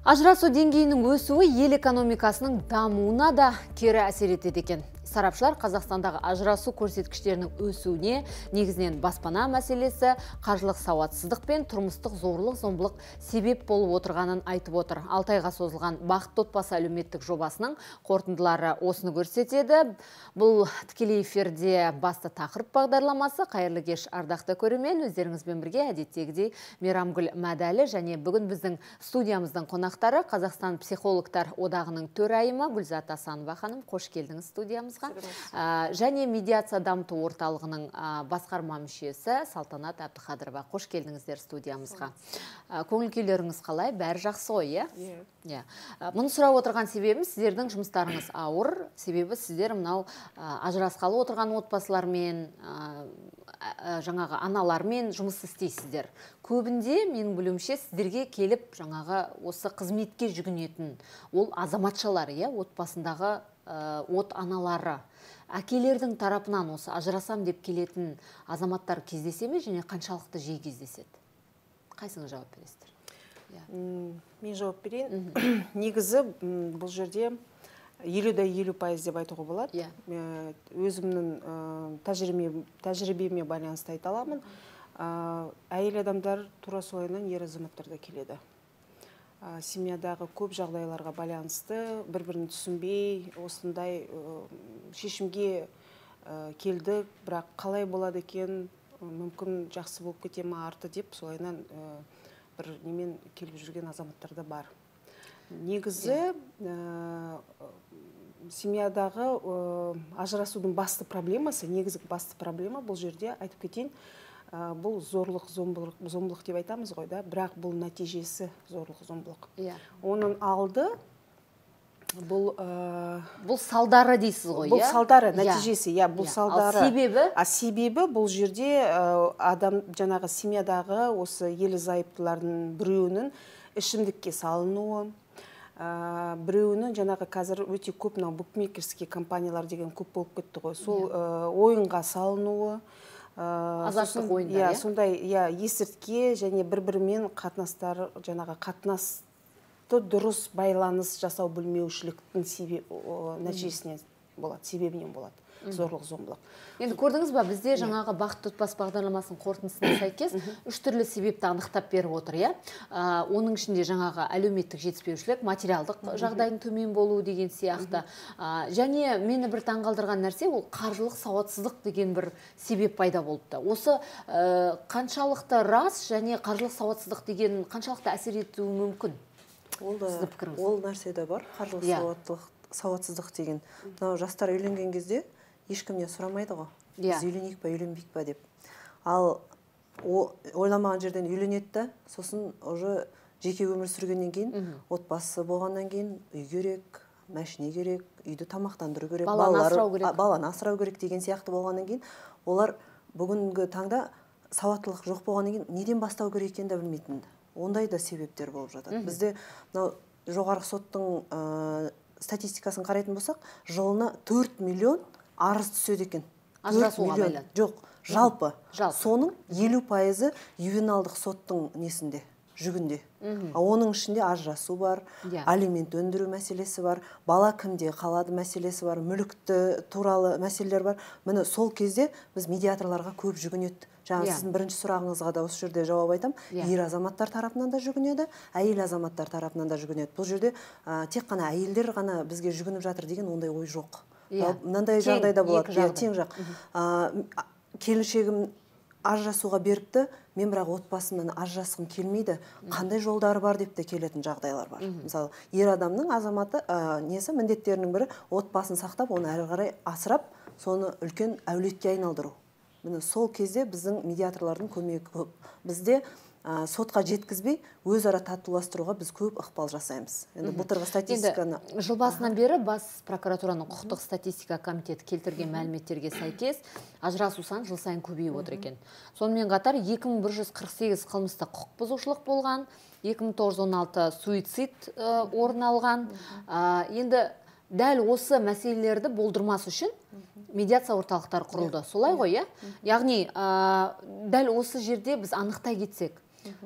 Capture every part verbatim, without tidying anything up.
Ажырасу деңгейінің өсуі ел экономикасының дамуына да кері әсер етеді екен. Сарапшылар Қазақстандағы ажырасу көрсеткіштерінің өсуіне негізінен баспана мәселесі, қаржылық сауатсыздық пен тұрмыстық зорлық-зомбылық себеп болып отырғанын айтып отыр. алты айға созылған бақытты отбасы әлеуметтік жобасының қорытындылары осыны көрсетеді. Бұл тікелей эфирде басты тақырып бағдарламасы. Қайырлы кеш, ардақты көрермен, өздеріңізбен бірге әдеттегідей Мейрамгүл Мәдәлі және бүгін біздің студиямыздың қонақтары Қазақстан психологтар одағының төрайымы Гүлзат Асанова ханым. Қош келдіңіз студиямызға. Және медиация дамыту орталығының басқарма мүшесі Салтанат Әбдіқадырова. Қош келдіңіздер студиямызға. Көңіл күйлеріңіз қалай? Бәрі жақсы ғой, иә? Мұны сұрап отырған себебім, сіздердің жұмыстарыңыз ауыр, себебі сіздер мынау ажырасқалы отырған отбасылармен, жаңағы аналармен жұмыс істейсіздер. Көбінде, менің білуімше, сіздерге келіп, жаңағы осы қызметке жүгінетін ол азаматшалар, отбасындағы от аналары, әкелердің тарапынан осы ажырасам деп келетін азаматтар кездесе ме және қаншалықты жиі кездеседі? Қайсыңыз жауап бересіздер? Мен жауап берейін. Негізі бұл жерде елу да елу пайыз деп айтуға болады. Өзімнің тәжірибеме байланысты айта аламын. Әйел адамдар тура солайынан ер азаматтар да келеді. Семьядағы көп жағдайларға байланысты бір-бірін түсінбей, осындай шешімге келдік, бірақ қалай болады екен, мүмкін жақсы болып кете ме арты деп, солайынан бір немен келіп жүрген азаматтар да бар. Негізі семьядағы ажырасудың басты проблемасы, негізгі басты проблема бұл жерде айтып кетейін, бұл зорлық, зомбылық деп айтамыз ғой, да, бірақ бұл нәтижесі зорлық, зомбылық. Оның алды бұл бұл салдары дейсіз ғой, бұл салдары, нәтижесі, иә, бұл салдары. Себебі? Себебі бұл жерде адам жаңағы семьядағы осы ерлі зайыптылардың біреуінің ішімдікке салынуы, біреуінің жаңағы қазір өте көп букмекерский компаниялар деген көп болып кетті ғой, сол ойынға салынуы, азаптық ойындар, сондай есіртке және бір-бірімен қатынастар, жаңағы қатынасты дұрыс байланыс жасау білмеушіліктің нәтижесінен болады, себебінен болады. Зорлық, зомбылық. Енді көрдіңіз ба, бізде жаңағы бақытты отбасы бағдарламасының қорытындысына сәйкес үш түрлі себепті анықтап беріп отыр, иә. Оның ішінде жаңағы әлеуметтік жетіспеушілік, материалдық жағдайдың төмен болуы деген сияқты. Және мені бір таңғалдырған нәрсе, ол қаржылық сауатсыздық деген бір себеп пайда болыпты. Осы қаншалықты рас және қаржылық сауатсыздық деген қаншалықты әсер етуі мүмкін? Ол нәрсе де бар, қаржылық сауатсыздық деген. Жастар үйленген кезде ешкімнен сұрамайды ғой, біз үйленейік па, үйленбейік па деп. Ал ойламаған жерден үйленеді да, сосын уже жеке өмір сүргеннен кейін, отбасы болғаннан кейін үй керек, мәшіне керек, үйді тамақтандыру керек, баланы асырау керек деген сияқты болғаннан кейін, олар бүгінгі таңда сауаттылық жоқ болғаннан кейін неден бастау керек екенін де білмейтін. Ондай да себептер болып жатады. Бізде жоғарғы соттың статистикасын қарайтын болсақ, жылына төрт миллион арыз түседі екен. Ажырасуға байланысты. Жоқ, жалпы. Соның елу пайызы ювеналдық соттың несінде, жүгінде. Оның ішінде ажырасу бар, алимент өндіру мәселесі бар, бала кімде қалады мәселесі бар, мүлікті туралы мәселелер бар. Міне сол кезде біз медиаторларға көп жүгінеді. Жаңа сіздің бірінші сұрағыңызға да осы жерде жауап айтам. Ер азаматтар тарапынан да жүгінеді, әйел азаматтар тарапынан да жүгінеді. Бұл жерде тек қана әйелдер ғана бізге жүгініп жатыр деген ондай ой жоқ. Мынандай жағдайда болады, тең жақ. Келіншегім ажырасуға беріпті, мен бірақ отбасымнан ажырасқым келмейді, қандай жолдары бар деп те келетін жағдайлар бар. Мысалы, ер адамның азаматы несі міндеттерінің бірі отбасын сақтап, оны әрі қарай асырап, соны үлкен әулетке айналдыру. Міне сол кезде біздің медиаторлардың көмегі көп. Бізде сотқа жеткізбей, өзара татуластыруға біз көп ықпал жасаймыз. Енді былтырғы статистиканы... Жыл басынан бері бас прокуратураның құқықтық статистика комитеті келтірген мәліметтерге сәйкес ажырасу саны жыл сайын көбейіп отыр екен. Сонымен қатар екі мың бір жүз қырық сегіз қылмыстық құқық бұзушылық болған, екі мың тоғыз жүз он алты суицид орын алған. Енді дәл осы мәселелерді болдырмас үшін медиация орталықтары құрылды. Солай ғой, иә? Яғни, дәл осы жерде біз анықтай кетсек,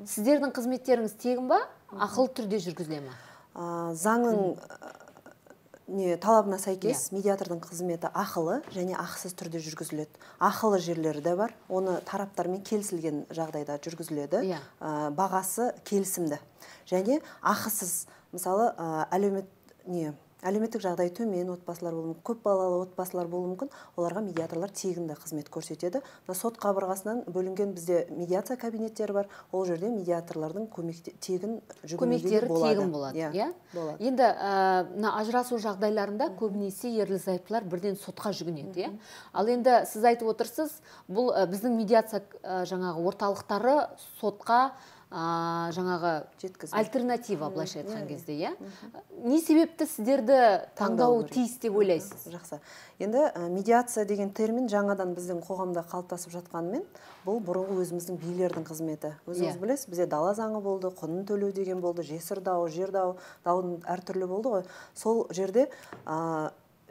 сіздердің қызметтеріңіз тегін ба, ақылы түрде жүргізіле ме? заңның не талабына сәйкес медиатордың қызметі ақылы және ақысыз түрде жүргізіледі. Ақылы жерлері де бар. Оны тараптармен келісілген жағдайда жүргізіледі. Бағасы келісімді. Және ақысыз, мысалы, әлеумет не әлеуметтік жағдай төмен отбасылар болуы мүмкін, көп балалы отбасылар болуы мүмкін, оларға медиаторлар тегін қызмет көрсетеді. Сот қабырғасынан бөлінген бізде медиация кабинеттері бар. Ол жерде медиаторлардың тегін көмектері тегін болады. Енді ажырасу жағдайларында көбінесе ерлі-зайыптылар бірден сотқа жүгінеді. Ал енді сіз айтып отырсыз, бұл біздің медиация жаңағы орталықтары сотқа жаңағы альтернатива, былайша айтқан кезде, не себепті сіздерді таңдауы тиіс деп ойлайсыз? Жақсы. Енді медиация деген термин жаңадан біздің қоғамда қалыптасып жатқанымен, бұл бұрынғы өзіміздің билердің қызметі. Өзіңіз білесіз, бізде дала заңы болды, құнын төлеу деген болды, жесір дауы, жер дауы, дауын әртүрлі болды ғой. Сол жерде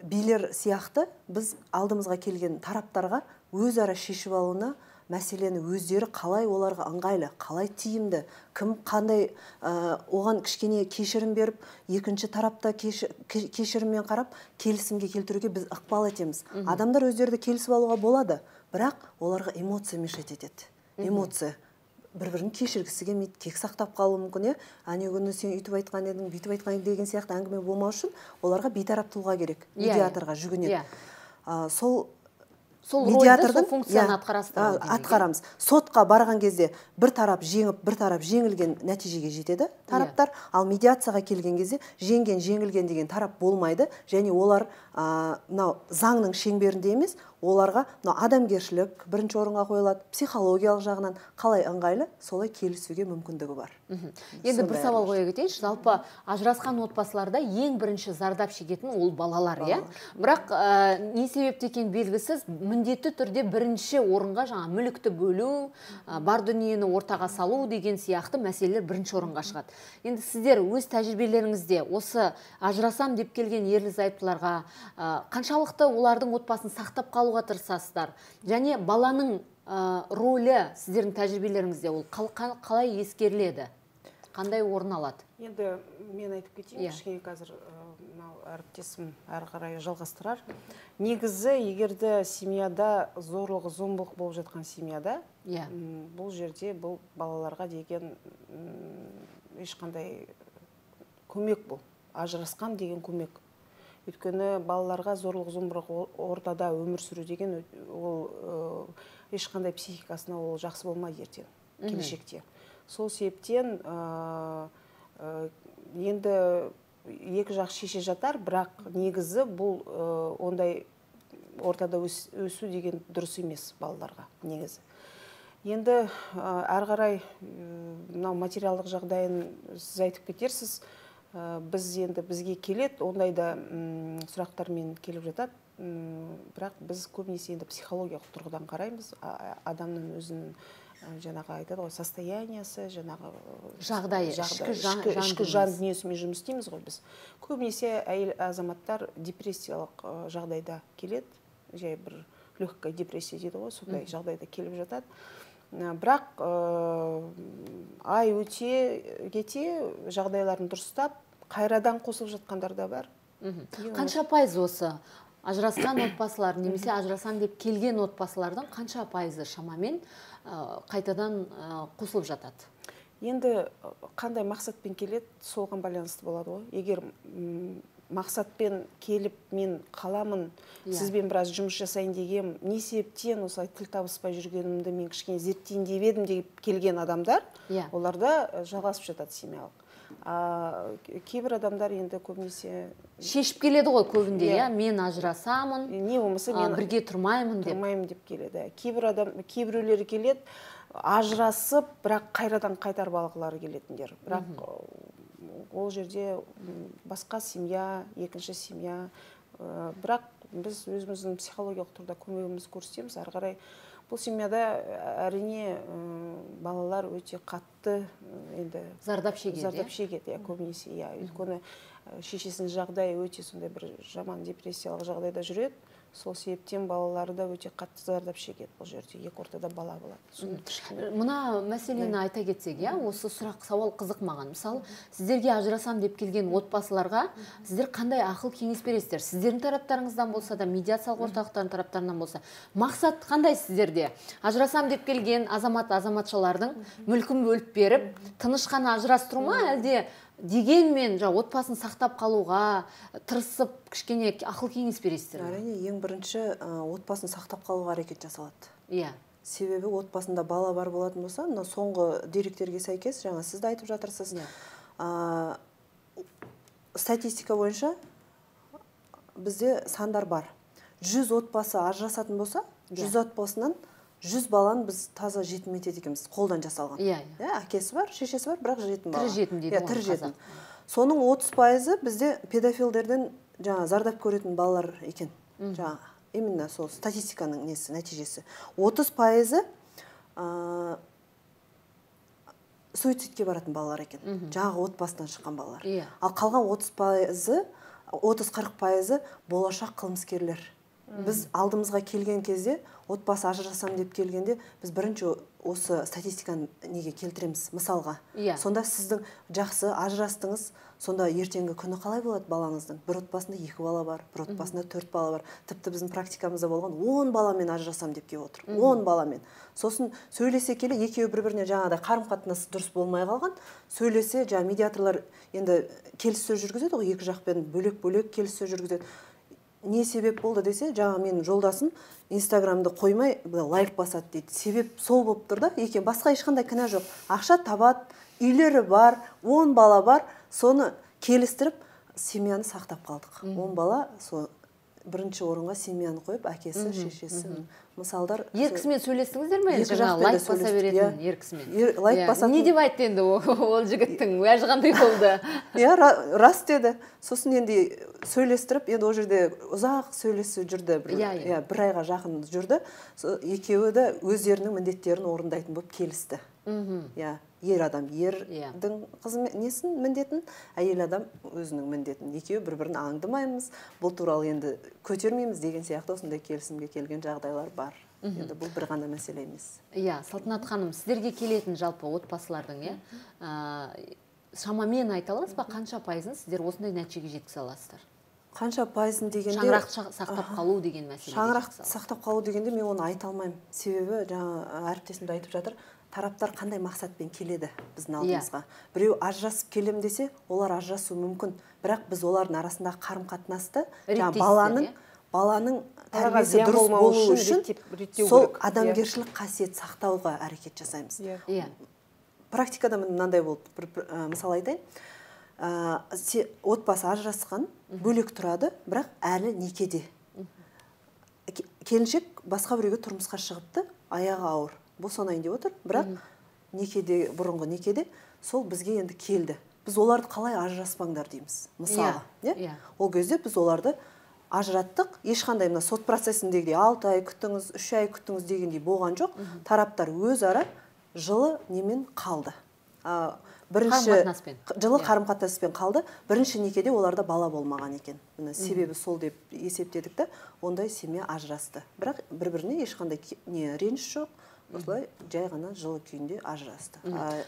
билер сияқты біз алдымызға келген тараптарға өзара шешіп алуына мәселені өздері қалай оларға ыңғайлы, қалай тиімді, кім қандай оған кішкене кешірім беріп, екінші тарапта кешіріммен қарап, келісімге келтіруге біз ықпал етеміз. Адамдар өздері келісіп алуға болады, бірақ оларға эмоция мешать етеді. Эмоция. Бір-бірін кешіргісі келмейді, кек сақтап қалуы мүмкін, әне күні сен үйтіп айтқан едің, бүйтіп айтқан деген сияқты әңгіме болмау үшін оларға бейтарап тұлға керек, медиаторға жүгінеді. Сол Сол рөлді, сол функцияны атқарасыздар. Атқарамыз. Сотқа барған кезде бір тарап жеңіп, бір тарап жеңілген нәтижеге жетеді тараптар. Ал медиацияға келген кезде жеңген, жеңілген деген тарап болмайды. Және олар заңның шеңберінде емес, оларға адамгершілік бірінші орынға қойылады, психологиялық жағынан қалай ыңғайлы, солай келісуге мүмкіндігі бар. Енді бір сауал қоя кетейінші, жалпы ажырасқан отбасыларда ең бірінші зардап шегетін ол балалар, иә? Бірақ не себепті екен белгісіз, міндетті түрде бірінші орынға жаңа мүлікті бөлу, бар дүниені ортаға салу деген сияқты мәселелер бірінші орынға шығады. Енді сіздер өз тәжірибелеріңізде осы ажырасам деп келген ерлі-зайыптыларға қаншалықты олардың отбасын сақтап қалуға тырысасыздар? Және баланың рөлі сіздердің тәжірибелеріңізде ол қалай ескеріледі? Қандай орын алады? Енді мен айтып кетейін, кішкене қазір әріптесім әрі қарай жалғастырар. Негізі, егерде семьяда зорлық, зомбылық болып жатқан семьяда, бұл жерде бұл балаларға деген ешқандай көмек бұл. Ажырасқан деген көмек. Өйткені балаларға зорлық, зомбылық ортада өмір сүру деген ол ешқандай психикасына ол жақсы болмайды ертең, келешекте. Сол себептен енді екі жақ шеше жатар, бірақ негізі бұл ондай ортада өсу деген дұрыс емес балаларға негізі. Енді әрі қарай материалдық жағдайын сіз айтып кетерсіз, біз енді бізге келет, ондай да сұрақтармен келіп жатады, бірақ біз көбінесе енді психологиялық тұрғыдан қараймыз, адамның өзінің жаңағы айтады ғой, состояниясы, жаңағы жағдайы, ішкі жан дүниесімен жұмыс істейміз ғой біз. Көбінесе әйел азаматтар депрессиялық жағдайда келеді, жай бір легкая депрессия дейді ғой, сондай жағдайда келіп жатады. Бірақ ай өте кете жағдайларын дұрыстап, қайрадан қосылып жатқандар да бар. Қанша пайыз осы ажырасқан отбасылар, немесе ажырасам деп келген отбасылардың қанша пайызы шамамен қайтадан қосылып жатады? Енді қандай мақсатпен келеді, соған байланысты болады ғой. Егер мақсатпен келіп, мен қаламын, сізбен біраз жұмыс жасайын деген, не себептен осылай тіл табыспай жүргенімді мен кішкене зерттейін деп едім деп келген адамдар, оларда жалғасып жатады семьялық. Кейбір адамдар енді көбінесе шешіп келеді ғой көбінде, мен ажырасамын, не болмаса мен бірге тұрмаймын деп. Тұрмаймын деп келеді. Кейбір адам, кейбіреулері келеді, ажырасып, бірақ қайрадан қайтарып алғылары келетіндер. Бірақ ол жерде басқа семья, екінші семья, бірақ біз өзіміздің психологиялық тұрда көмегіміз көрсетеміз. Әрі қарай бұл семьяда әрине балалар өте қатты енді зардап шегеді. Зардап шегеді, көбінесе, иә. Өйткені шешесінің жағдайы өте сондай бір жаман депрессиялық жағдайда жүреді. сол себептен балалары да өте қатты зардап шегеді бұл жерде, екі ортада бала болады. Мына мәселені айта кетсек, иә, осы сұрақ сауал қызық маған. Мысалы, сіздерге ажырасам деп келген отбасыларға сіздер қандай ақыл кеңес бересіздер? Сіздердің тараптарыңыздан болса да, медиациялық орталықтардың тараптарынан болса, мақсат қандай сіздерде? Ажырасам деп келген азамат азаматшалардың мүлкін бөліп беріп, тыныш қана ажырастыру ма, әлде дегенмен отбасын сақтап қалуға тырысып кішкене ақыл кеңес бересіздер? Әрине, ең бірінші отбасын сақтап қалуға әрекет жасалады. Иә. Себебі отбасында бала бар болатын болса, мына соңғы деректерге сәйкес, жаңа сіз де айтып жатырсыз. Статистика бойынша бізде сандар бар. жүз отбасы ажырасатын болса, жүз отбасынан жүз баланы біз таза жетім етеді екенбіз, қолдан жасалған. Иә, әкесі бар, шешесі бар, бірақ жетім бала. Тірі жетім дейді ғой қазақ. Соның отыз пайызы бізде педофилдерден жаңа зардап көретін балалар екен. Жаңа именно сол статистиканың несі, нәтижесі. отыз пайызы суицидке баратын балалар екен. Жаңағы отбасынан шыққан балалар. Ал қалған отыз пайызы, отыз қырық пайызы болашақ қылмыскерлер. Біз алдымызға келген кезде, отбасы ажырасам деп келгенде, біз бірінші осы статистиканы неге келтіреміз, мысалға. Сонда сіздің жақсы ажырастыңыз, сонда ертеңгі күні қалай болады балаңыздың? Бір отбасында екі бала бар, бір отбасында төрт бала бар. Тіпті біздің практикамызда болған он баламен ажырасам деп келіп отыр. он баламен. Сосын сөйлесе келе, екеуі бір-біріне жаңағыдай қарым-қатынасы дұрыс болмай қалған. Сөйлесе, жаңа медиаторлар енді келіссөз жүргізеді ғой, екі жақпен бөлек-бөлек келіссөз жүргізеді. Не себеп болды десе, жаңа менің жолдасым Инстаграмды қоймай лайк басады дейді. Себеп сол болып тұр да, екен басқа ешқандай кінә жоқ. Ақша табады, үйлері бар, он бала бар, соны келістіріп, семьяны сақтап қалдық. он бала, бірінші орынға семьяны қойып, әкесі, шешесі, мысалдар. Еркісімен сөйлестіңіздер ме? Жаңа лайк баса беретін еркісімен. Лайк басатын. Не деп айтты енді ол жігіттің, уәжі қандай болды? Иә, рас деді. Сосын енді сөйлестіріп, енді ол жерде ұзақ сөйлесу жүрді, бір айға жақын жүрді. Екеуі де өздерінің міндеттерін орындайтын болып келісті. Ер адам ердің несін міндетін, әйел адам өзінің міндетін. Екеуі бір-бірін аңдымаймыз, бұл туралы енді көтермейміз деген сияқты осындай келісімге келген жағдайлар бар. Енді бұл бір ғана мәселе емес. Иә, Салтанат ханым, сіздерге келетін жалпы отбасылардың, шамамен айта аласыз ба, қанша пайызын сіздер осындай нәтижеге жеткізе аласыздар? Қанша пайызын дегенде... Шаңырақ сақтап қалу деген мәселе. Шаңырақ сақтап қалу дегенде мен оны айта алмаймын. Себебі жаңа әріптесімді айтып жатыр, тараптар қандай мақсатпен келеді біздің алдымызға. Біреу ажырасып келем десе, олар ажырасуы мүмкін. Бірақ біз олардың арасындағы қарым-қатынасты, баланың баланың тәрбиесі дұрыс болу үшін сол адамгершілік қасиет сақтауға әрекет жасаймыз. Практикада мынандай болды, мысал айтайын. Отбасы ажырасқан, бөлек тұрады, бірақ әлі некеде. Келіншек басқа біреуге тұрмысқа шығыпты, аяғы ауыр. Босанайын деп отыр, бірақ некеде, бұрынғы некеде, сол бізге енді келді. Біз оларды қалай ажыраспаңдар дейміз, мысалы. Ол кезде біз оларды ажыраттық, ешқандай мына сот процесіндегідей алты ай күттіңіз, үш ай күттіңіз дегендей болған жоқ. Тараптар өзара жылы немен қалды. Жылы қарым-қатынаспен қалды. Бірінші некеде оларда бала болмаған екен. Себебі сол деп есептедік та, ондай семья ажырасты. Бірақ бір-біріне ешқандай реніш жоқ. Осылай жай ғана жылы күйінде ажырасты.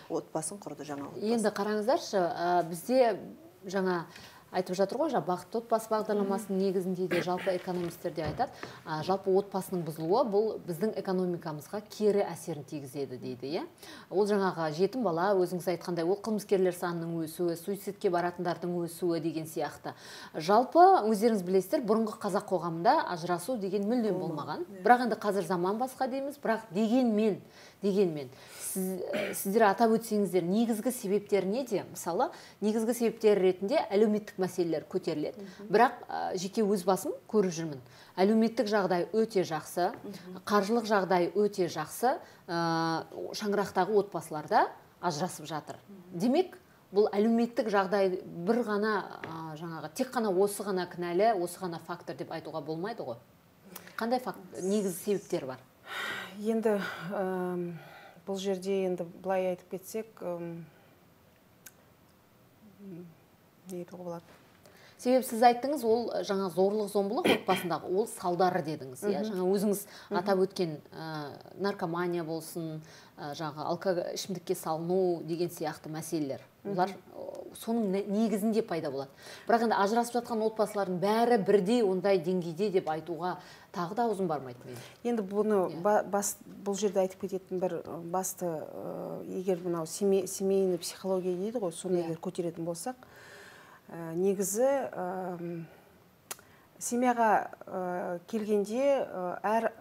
Отбасын құрды жаңа отбасы. Енді қараңыздаршы, бізде жаңа айтып жатыр ғой, бақытты отбасы бағдарламасының негізінде де жалпы экономистер де айтады, жалпы отбасының бұзылуы бұл біздің экономикамызға кері әсерін тигізеді дейді. Ол жаңағы жетім бала, өзіңіз айтқандай, ол қылмыскерлер санының өсуі, суицидке баратындардың өсуі деген сияқты. Жалпы өздеріңіз білесіздер, бұрынғы қазақ қоғамында ажырасу деген мүлдем болмаған. Бірақ енді қазір заман басқа дейміз, бірақ дегенмен дегенмен сіздер атап өтсеңіздер, негізгі себептер неде? Мысалы, негізгі себептер ретінде әлеуметтік мәселелер көтеріледі. Бірақ жеке өз басым көріп жүрмін. Әлеуметтік жағдай өте жақсы, қаржылық жағдай өте жақсы, шаңырақтағы отбасыларда ажырасып жатыр. Демек, бұл әлеуметтік жағдай бір ғана жаңағы тек қана осы ғана кінәлі, осы ғана фактор деп айтуға болмайды ғой. Қандай негізгі себептер бар? Енді бұл жерде енді былай айтып кетсек, не айтуға болады? себебі сіз айттыңыз, ол жаңа зорлық зомбылық отбасындағы ол салдары дедіңіз, иә, жаңа өзіңіз атап өткен наркомания болсын, жаңа алкоголь ішімдікке салыну деген сияқты мәселелер, олар соның негізінде пайда болады. Бірақ енді ажырасып жатқан отбасылардың бәрі бірдей ондай деңгейде деп айтуға тағы да аузым бармайды мен. Енді бұны бұл жерде айтып кететін бір басты, егер мынау семейный психология дейді ғой, соны егер көтеретін болсақ, негізі семьяға келгенде әр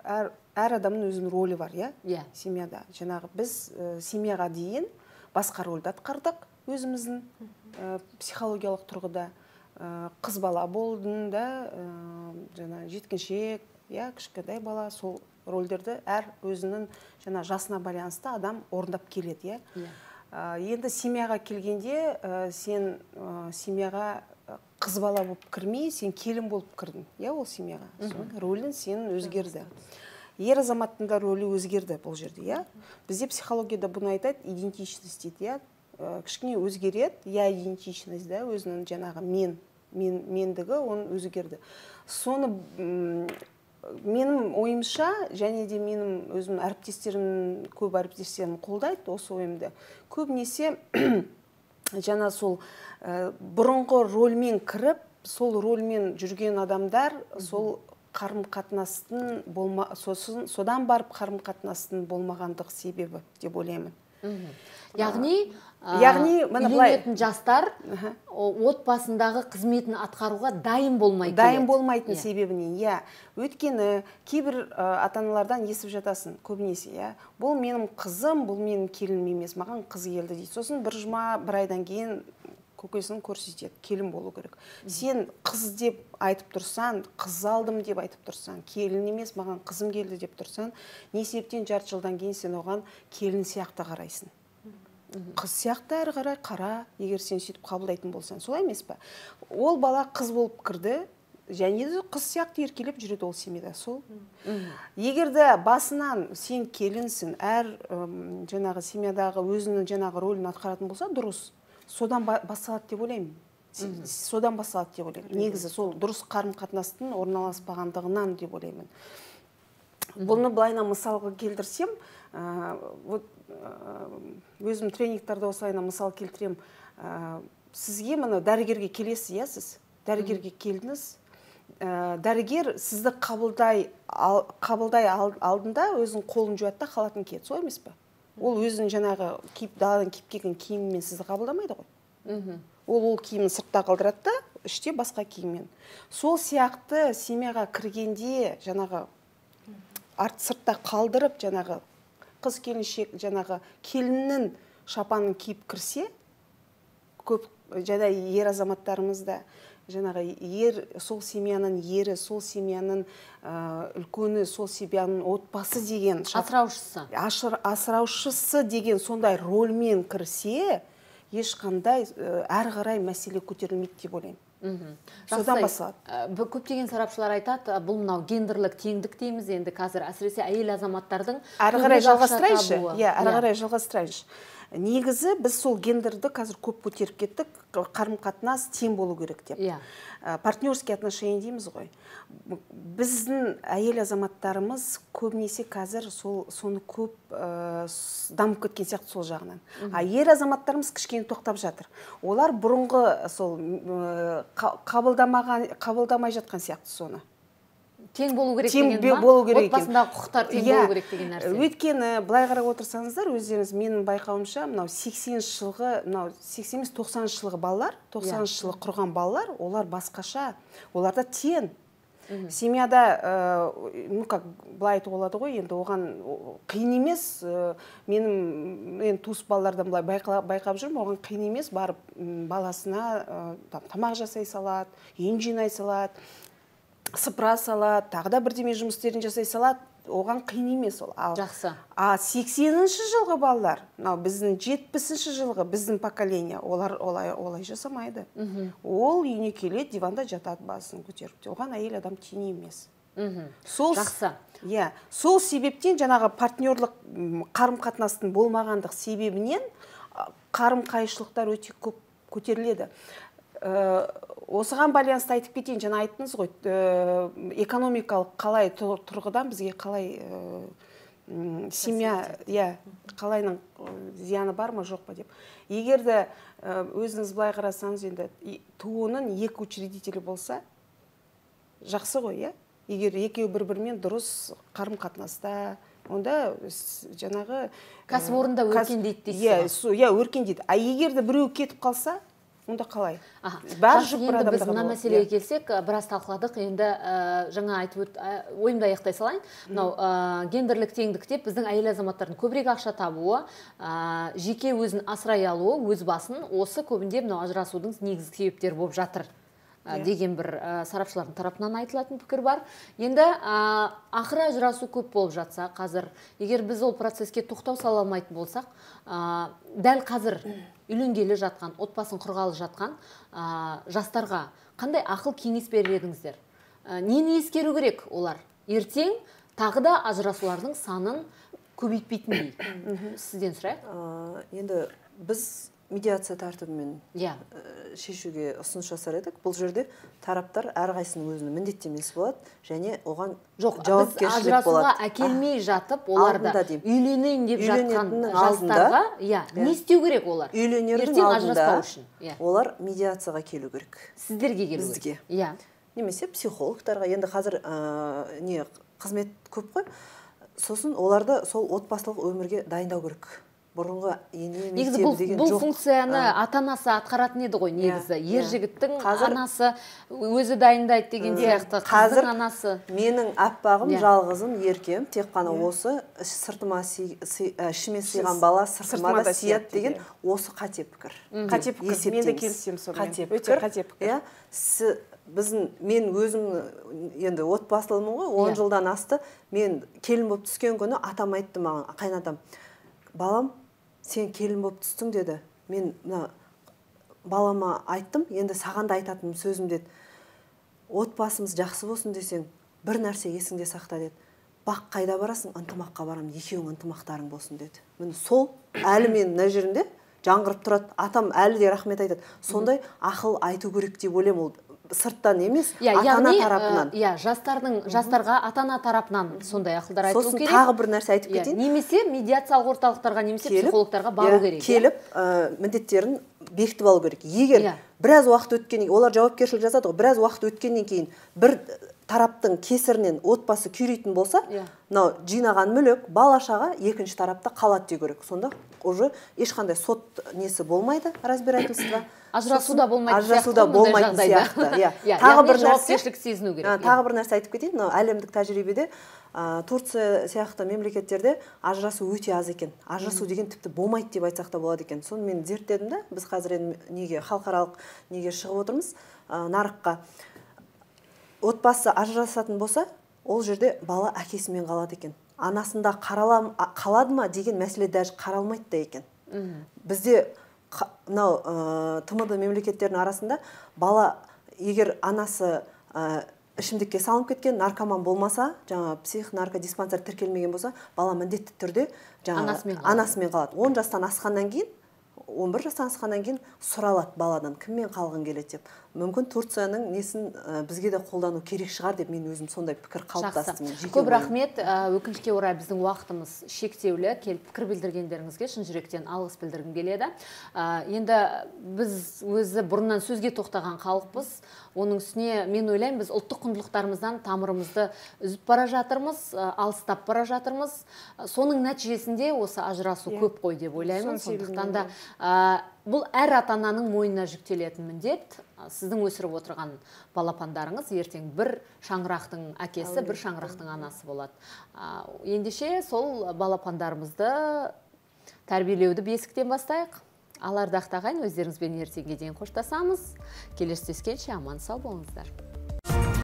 адамның өзінің рөлі бар, иә, семьяда. Жаңағы біз семьяға дейін басқа рөлді атқардық өзіміздің психологиялық тұрғыда. Қыз бала болдың да, жаңа жеткіншек, иә, кішкентай бала, сол рөлдерді әр өзінің жаңа жасына байланысты адам орындап келеді, иә. Енді семьяға келгенде сен семьяға қыз бала болып кірмей, сен келін болып кірдің, иә, ол семьяға. Рөлін сен өзгерді. Ер азаматтың да рөлі өзгерді бұл жерде, иә. Бізде психологияда бұны айтады, идентичность дейді, иә. Кішкене өзгереді, я идентичность, да, өзінің жаңағы мен, мендігі, оны өзгерді. Соны менің ойымша, және де менің өзім әріптестерім, көп әріптестерім қолдайды осы ойымды. Көбінесе жаңа сол бұрынғы рөлмен кіріп, сол рөлмен жүрген адамдар, сол қарым-қатынастың болма, содан барып қарым-қатынастың болмағандық себебі деп ойлаймын. Яғни, үйленетін жастар отбасындағы қызметін атқаруға дайын болмай келеді. Дайын болмайтын себебінен, иә. Өйткені кейбір ата-аналардан естіп жатасың, көбінесе, иә. Бұл менің қызым, бұл менің келінім емес, маған қыз келді дейді. Сосын бір жұма, бір айдан кейін көкесін көрсетеді, келін болу керек. Сен қыз деп айтып тұрсан, қыз алдым деп айтып тұрсан, келін емес, маған қызым келді деп тұрсан, не себептен жарты жылдан кейін сен оған келін сияқты қарайсың. Қыз сияқты әрі қарай қара, егер сен сөйтіп қабылдайтын болсан, солай емес пе? Ол бала қыз болып кірді, және де қыз сияқты еркелеп жүреді ол семьяда, сол. Егер де басынан сен келінсің, әр жаңағы семьядағы өзінің жаңағы рөлін атқаратын болса, дұрыс. Содан басталады деп ойлаймын. Содан басталады деп ойлаймын. Негізі сол дұрыс қарым-қатынастың орналаспағандығынан деп ойлаймын. Бұны былайына мысалға келтірсем, өзім тренингтарда осылайына мысал келтірем. Сізге мұны дәрігерге келесіз, иә, сіз? Дәрігерге келдіңіз. Дәрігер сізді қабылдай алдында өзінің қолын жуады да халатын киеді, солай емес пе? Ол өзінің жаңағы даладан киіп келген киіммен сізді қабылдамайды ғой. Ол ол киімін сыртта қалдырады да, іште басқа киіммен. Сол сияқты семьяға кіргенде жаңағы сыртта қалдырып, жаңағы қыз келіншек, жаңағы келіннің шапанын киіп кірсе, көп жаңа ер азаматтарымызда, жаңағы ер, сол семьяның ері, сол семьяның үлкені, сол семьяның отбасы деген, асыраушысы. Асыраушысы деген сондай рөлмен кірсе, ешқандай әрі қарай мәселе көтерілмейді деп ойлаймын. Содан басылады. Көптеген сарапшылар айтады, бұл мынау гендерлік теңдік дейміз, енді қазір әсіресе әйел азаматтардың әрі қарай жалғастырайыншы. Иә, әрі қарай жалғастырайыншы. Негізі біз сол гендерді қазір көп көтеріп кеттік, қарым-қатынас тең болу керек деп. Партнерский отношения дейміз ғой. Біздің әйел азаматтарымыз көбінесе қазір соны көп дамып кеткен сияқты сол жағынан. А ер азаматтарымыз кішкене тоқтап жатыр. Олар бұрынғы сол қабылдамай жатқан сияқты соны. Тең болу керек деген ба? Отбасындағы құқықтар тең болу керек деген нәрсе. Өйткені былай қарап отырсаңыздар, өздеріңіз менің байқауымша, мынау сексенінші жылғы, мынау сексен емес тоқсаныншы жылғы балалар, тоқсаныншы жылы құрған балалар, олар басқаша, оларда тең. Семьяда, ну как, былай айтуға болады ғой, енді оған қиын емес, менің туыс балалардан былай байқап жүрмін, оған қиын емес, барып баласына тамақ жасай салады, ен жинай салады, сыпыра салады, тағы да бірдеме жұмыстерін жасай салады, оған қиын емес ол. Жақсы. А сексенінші жылғы балалар, біздің жетпісінші жылғы біздің поколение, олар олай жасамайды. Ол үйіне келеді, диванда жатады басын көтеріп. Оған әйел адам тең емес. Жақсы. Сол себептен жаңағы партнерлық қарым-қатынастың болмағандық себебінен қарым-қайшылықтар өте көп көтеріледі. осыған байланысты айтып кетейін, жаңа айттыңыз ғой, экономикалық қалай тұрғыдан бізге қалай семья, иә, қалайның зияны бар ма жоқ па деп. Егер де өзіңіз былай қарасаңыз, енді туының екі учредителі болса жақсы ғой, иә. Егер екеуі бір-бірімен дұрыс қарым-қатынаста, онда жаңағы кәсіпорында өркендейді дейсіз. Иә, өркендейді. А егер де біреу кетіп қалса, онда қалай? Енді біз мына мәселеге келсек, біраз талқыладық. Енді жаңа айтып ойымды аяқтай салайын. Мынау гендерлік теңдік деп біздің әйел азаматтардың көбірек ақша табуы, жеке өзін асырай алуы, өз басын осы көбінде мынау ажырасудың негізгі себептері болып жатыр деген бір сарапшылардың тарапынан айтылатын пікір бар. Енді ақыры ажырасу көп болып жатса, қазір егер біз ол процеске тоқтау сала алмайтын болсақ, дәл қазір үйленгелі жатқан, отбасын құрғалы жатқан жастарға қандай ақыл кеңес берер едіңіздер? Нені ескеру керек олар? Ертең тағы да ажырасулардың санын көбейтпейтіндей. Сізден сұрайық. Енді біз медиация тәртібімен шешуге ұсыныс жасар едік. Бұл жерде тараптар әрқайсысының өзінің міндеттемесі болады және оған жауапкершілік болады. Ажырасуға әкелмей жатып, оларда үйленейін деп жатқан жастарға не істеу керек олар? Үйленердің алдында олар медиацияға келу керек. Сіздерге келу керек? Бізге. Немесе психологтарға. Енді қазір қызмет көп қой. Сосын оларды сол отбасылық өмірге дайындау керек. Бұрынғы ене мектебі деген жоқ. Бұл функцияны ата-анасы атқаратын еді ғой негізі. Ер жігіттің анасы өзі дайындайды деген сияқты. Қыздың анасы. Менің аппағым, жалғызым, еркем, тек қана осы сыртыма ішіме сыйған бала сыртыма да сияды деген осы қате пікір. Қате пікір. Мен де келісемін сонымен. Өте қате пікір. Біздің, мен өзім енді отбасылымын ғой, он жылдан асты. Мен келін болып түскен күні атам айтты маған, қайнатам, балам, сен келін болып түстің деді. Мен балама айттым, енді саған да айтатыным сөзім деді. Отбасымыз жақсы болсын десең, бір нәрсе есіңде сақта деді. Бақ қайда барасың, ынтымаққа барам, екеуің ынтымақтарың болсын деді. Міне сол әлі мен мына жерінде жаңғырып тұрады. Атам әлі де рахмет айтады. Сондай ақыл айту керек деп ойлаймын, ол сырттан емес, ата-ана тарапынан. Иә, жастардың жастарға ата-ана тарапынан сондай ақылдар айту керек. Сосын тағы бір нәрсе айтып кетейін. Немесе медиациялық орталықтарға, немесе психологтарға бару керек. Келіп, міндеттерін бекітіп алу керек. Егер біраз уақыт өткеннен, олар жауапкершілік жасады ғой, біраз уақыт өткеннен кейін бір тараптың кесірінен отбасы күйрейтін болса, мынау жинаған мүлік, бала-шаға екінші тарапта қалады деу керек. Сонда уже ешқандай сот несі болмайды, разбирательство. Ажырасуда болмайды Ажырасуда болмайтын сияқты. Тағы бір жауапкершілік сезіну керек. Тағы бір нәрсе айтып кетейін. Әлемдік тәжірибеде Турция сияқты мемлекеттерде ажырасу өте аз екен. Ажырасу деген тіпті болмайды деп айтсақ та болады екен. Соны мен зерттедім да, біз қазір неге халықаралық неге шығып отырмыз нарыққа. Отбасы ажырасатын болса, ол жерде бала әкесімен қалады екен. Анасында қалады ма деген мәселе даже қаралмайды да екен. Бізде мынау тмд мемлекеттерінің арасында бала егер анасы ішімдікке салынып кеткен, наркоман болмаса, жаңа психонаркодиспансер тіркелмеген болса, бала міндетті түрде анасымен қалады. он жастан асқаннан кейін, он бір жастан асқаннан кейін сұралады баладан, кіммен қалғың келеді деп. Мүмкін Турцияның несін бізге де қолдану керек шығар деп мен өзім сондай пікір қалыптастым. Көп рахмет. Өкінішке орай біздің уақытымыз шектеулі. Келіп пікір білдіргендеріңізге шын жүректен алғыс білдіргім келеді. Енді біз өзі бұрыннан сөзге тоқтаған халықпыз. Оның үстіне мен ойлаймын, біз ұлттық құндылықтарымыздан тамырымызды үзіп бара жатырмыз, алыстап бара жатырмыз. Соның нәтижесінде осы ажырасу көп қой деп ойлаймын. Сондықтан да бұл әр ата-ананың мойнына жүктелетін міндет. Сіздің өсіріп отырған балапандарыңыз ертең бір шаңырақтың әкесі, бір шаңырақтың анасы болады. Ендеше сол балапандарымызды тәрбиелеуді бесіктен бастайық. Ал ардақты ағайын, өздеріңізбен ертеңге дейін қоштасамыз. Келесі түскенше аман сау болыңыздар.